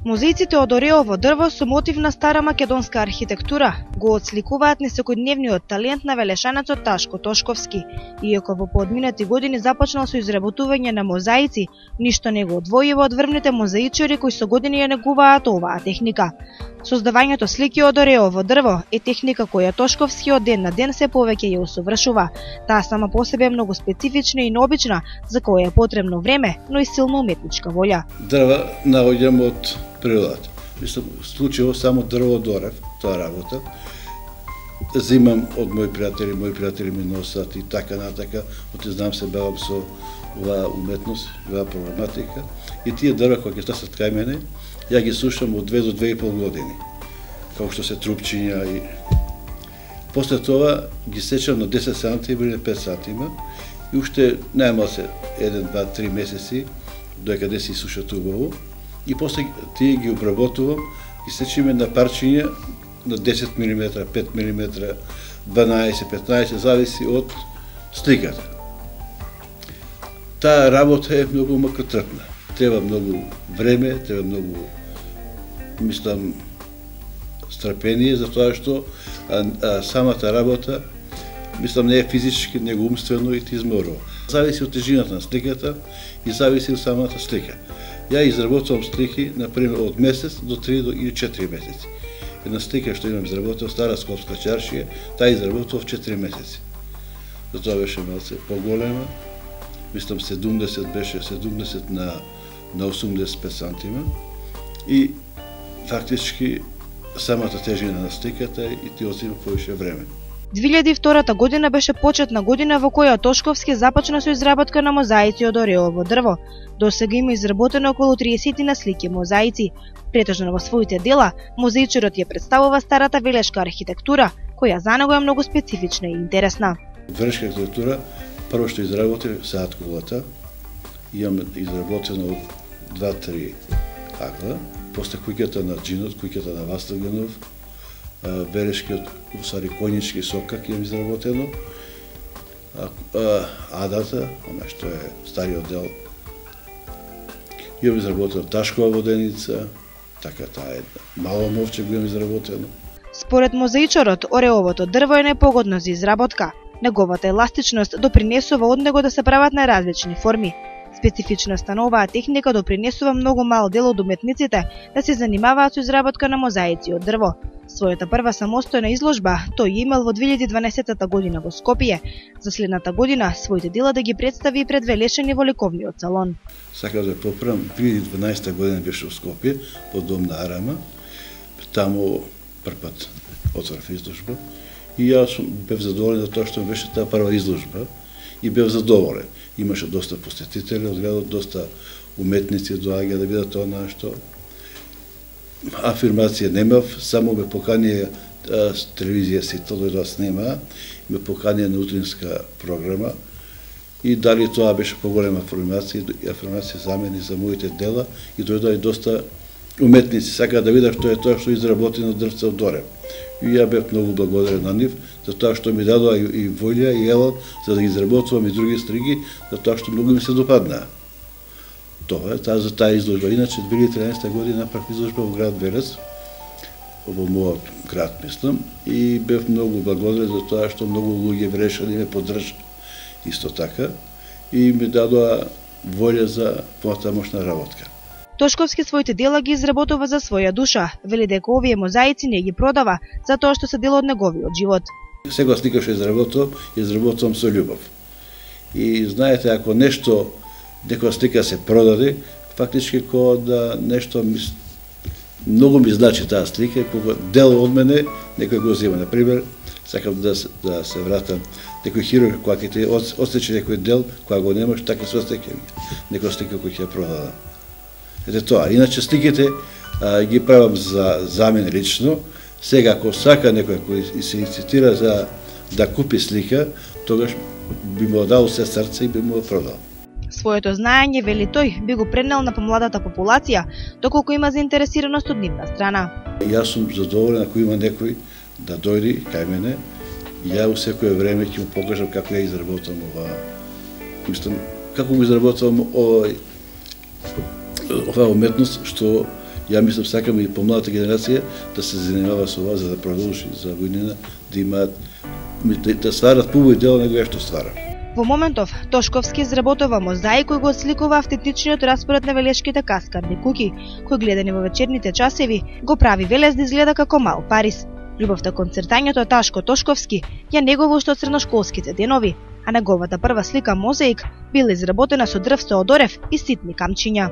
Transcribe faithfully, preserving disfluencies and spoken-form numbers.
Музеиците од ореово дрво со мотив на стара македонска архитектура го отсликуваат несекојдневниот талент на велешанецот Ташко Тошковски. Иако во поодминати години започнал со изработување на мозаици, ништо не го одвојува од врвните мозаичари кои со години ја негуваат оваа техника. Создавањето слики од ореово дрво е техника која Тошковски од ден на ден се повеќе ја усовршува. Таа сама по себе е многу специфична и необична, за која е потребно време, но и силна уметничка волја. Дрва наоѓам од природата. Мислам, случајно само дрво дорев, тоа работа. Земам од мои пријатели, мои пријатели ми носат и така натака, оти знам се бавам со оваа уметност, оваа проблематика. И тие дрва кои ќе стасат кај мене, ја ги слушам од две до две и пол години, како што се трупчиња и после тоа ги сечам на десет сантима или пет сантима и уште најмал се еден, два, три месеци додека се сушат убаво и после тие ги обработувам и сечиме на парчиња на десет милиметра, пет милиметра, дванаесет, петнаесет, зависи од сликата. Таа работа е многу макотрпна. Треба многу време, треба многу, мислам, страпение, затоа што а, а, самата работа, мислам, не е физички, него умствено и ти изморува. Зависи од тежината на сликата и зависи од самата слика. Ја изработувам слики, например, од месец до три или четири месеци. Една слика што имам изработував, стара скопска чаршија, таа изработував четири месеци. Затоа беше малце поголема, мислам седумдесет беше седумдесет на на осумдесет и пет сантима и фактички самата тежина на сликата и ти одзема повеќе време. две илјади и втора година беше почетна година во која Тошковски започна со изработка на мозаици од ореово дрво. До сега има изработено околу триесет на слики мозаици. Претежно во своите дела, мозаичарот ја представува старата велешка архитектура, која за него е многу специфична и интересна. Велешка архитектура, прво што изработив се аткулата, имам изработено од два-три агла, после куќата на Джинот, куќата на Вастагенов, велешкиот, усари конјички сокак имам изработено, адата, она што е стариот дел, имам изработено Ташкова воденица, така таа е мало мовче го имам изработено. Според мозаичарот, ореовото дрво е непогодно за изработка. Неговата еластичност допринесува од него да се прават на различни форми. Специфичноста на оваа техника допринесува многу мал дел од уметниците да се занимаваат со изработка на мозаици од дрво. Својата прва самостојна изложба тој имал во две илјади и дванаесета година во Скопје. За следната година своите дела да ги представи и пред велешани во ликовниот салон. Сакам да поправам, две илјади и дванаесета година беше во Скопје, во дом на Арама. Таму првпат отворив изложба и јас бев задоволен за тоа што беше таа прва изложба и бев задоволен. Имаше доста посетители од градот, доста уметници доаѓа да видат тоа што афирмација немав, само ме поканија с телевизија Сител да снима, ме поканија на утринска програма и дали тоа беше поголема афирмација, афирмација за мене и за моите дела и дојдоа и доста уметници сакаат да видат што е тоа што изработено од дрвце од Дорев. И ја бев многу благодарен на нив за тоа што ми дадоа и, и волја и елат за да ги изработувам и други стриги, за тоа што многу ми се допаднаа. Тоа е таа за таа изложба. Иначе две илјади и траесета година направив изложба во град Велес, во мојот град, мислам, и бев многу благодарен за тоа што многу луѓе врешани ме поддржаа исто така и ми дадоа волја за понатамошна работка. Тошковски своите дела ги изработува за своја душа, вели дека овие мозаици не ги продава затоа што се дел од неговиот живот. Секоја слика што изработувам, изработувам со љубов. И знаете, ако нешто, некоја слика се продаде, фактички кога да нешто ми, многу ми значи таа слика, кога дел од мене некој го зема. Например, сакам да, да се вратам, некој хирург кога ќе те отсече некој дел, кога го немаш, така се остеќе некоја слика која ќе ја продадам. Ете тоа, иначе сликите а, ги правам за, за мен лично. Сега, ако сака некој кој се инцитира за да купи слика, тогаш би му дал се срце и би му продал. Своето знаење, вели тој, би го пренел на помладата популација, доколку има заинтересираност од нивна страна. Јас сум задоволен ако има некој да дојде кај мене, ја у секое време ќе му покажам како ја изработам ова, мислам, како го изработам овој оваа уметност што Ја мислам, сакам и помладата генерација да се занимава со ова, за да продолжи за година, да имаат, да стварат побој дел него што ствара. Во моментов, Тошковски изработува мозаик кој го отсликува автентичниот распоред на велешките каскадни куќи, кој гледани во вечерните часеви, го прави Велес да изгледа како мал Париз. Љубовта кон цртањето Ташко Тошковски ја негова уште од средношколските денови, а неговата прва слика мозаик била изработена со дрвсто од орев и ситни камчиња.